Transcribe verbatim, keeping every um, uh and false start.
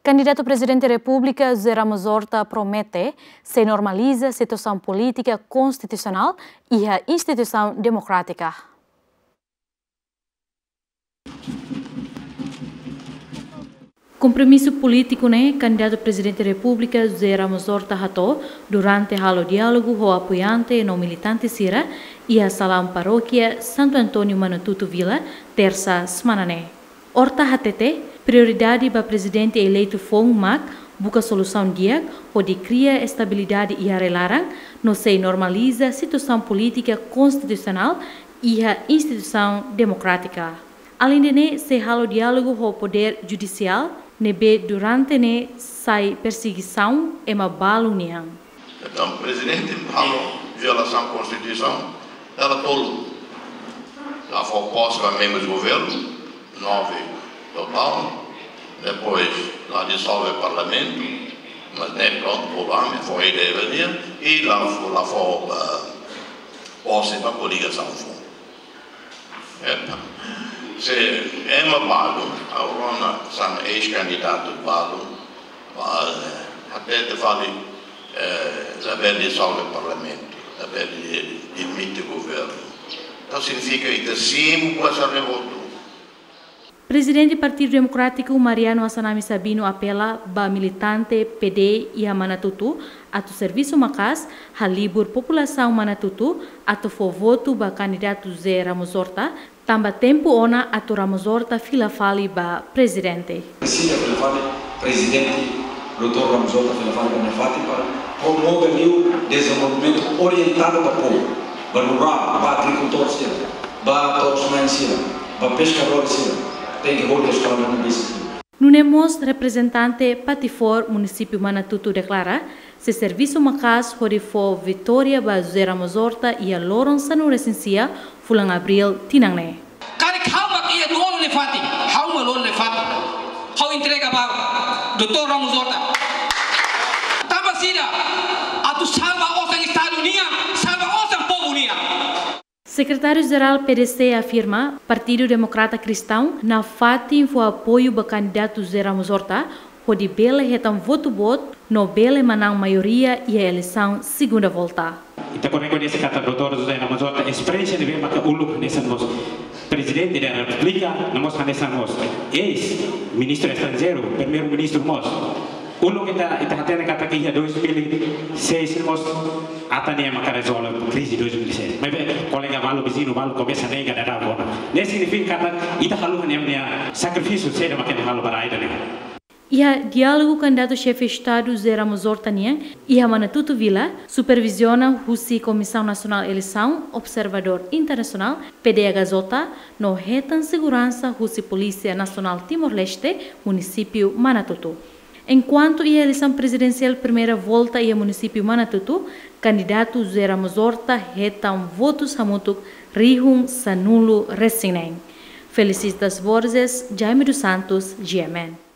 Kandidatu Prezidente Repúblika José Ramos Horta promete sei normaliza situasaun polítika konstitusionál iha instituisaun demokrátika. Kompromisu polítiku ne'e kandidatu Prezidente Repúblika José Ramos Horta hato'o durante halo diálogu ho apoiante no militante sira iha salaun parókia Santo António Manatuto Vila, Tersa semana ne'e. Horta hatete, prioridade ba prezidente eleitu foun mak buka solusaun di'ak hodi kria estabilidade iha rai-laran no sei normaliza situasaun polítika konstitusionál iha instituisaun demokrátika. Aleinde ne'e, sei halo diálogu ho podér judisiál ne'ebé durante ne'e sai persegisaun ema balu nian. Entaun, prezidente halo violasaun konstituisaun, dala tolu. La fó pose ba membrus governu, nove totál, depois la disolve parlamentu, mas ne'e prontu, problema, foi de dia, i la fó, la fó, ah, pose ba koligasaun foun. Entaun, se ema balu, agora hanesan eis-kandidatu balu, ba, eh, hatete fali, eh, labele disolve parlamentu, labele demite governu. Entaun signifika ita simu kuaza revoltu. Prezidente Partidu Demokrátiku Mariano Assanami Sabino apela ba militante P D iha Manatuto atu servisu maka'as halibur populasaun Manatuto atu fó votu ba kandidatu José Ramos Horta, tanba tempu ona atu Ramos Horta fila fali ba prezidente. Presiza fila fali prezidente, doutór Ramos Horta fila fali ba nia fatin para promove liu dezenvolvimentu orientadu ba povu, ba rurál, ba agrikultór sira, ba to'os-na'in sira, ba peskadór sira, tenke hodi eskola no bisi. Nune'e mós reprezentante Patifor Munisípiu Manatuto deklara, sei servisu maka'as hodi fó vitória ba José Ramos Horta iha loron sanulu-resin-sia fulan Abríl tinan ne'e. Karik ha'u mak iha loro nafatin, ha'u mak loro nafatin. Ha'u entrega ba doutór Ramos Horta. Tanba saida? Atu salva osan Estadu nian, salva osan povu nian. Sekretáriu-Jerál P D C afirma, Partidu Demokrata Kristaun nafatin fó apoiu ba kandidatu José Ramos Horta, hodi bele hetan votu boot no bele manán maioria iha eleisaun segunda volta. Ita rekoñese katak doutór José Ramos Horta esperiénsia ne'ebé maka uluk hanesan mós Prezidente da Repúblika, no mós hanesan mós eis-ministru estranjeiru, primeiru-ministru mós. Uluk ita, ita hatene katak iha dois mil e seis mós atan nia maka rezolve krize dois mil e seis. Maibé kolega balu, viziñu balu komesa nega, dada bona. Ne'e signifika katak ita haluha nia, nia sakrifísiu saida maka nia halo ba rai ida-ne'e. Iha diálogu kandidatu Xefe Estadu José Ramos Horta nian iha Manatuto Vila, superviziona husi Komisaun Nasionál Eleisaun, Observadór Internasionál, P D H J, no hetan seguransa husi Polísia Nasionál Timor-Leste, Munisípiu Manatuto. Enkuantu iha eleisaun prezidensiál primeira volta iha Munisípiu Manatuto, kandidatu José Ramos Horta hetan votus hamutuk rihun sanulu-resin-neen. Felicitas Borges, Jaime dos Santos, G M N.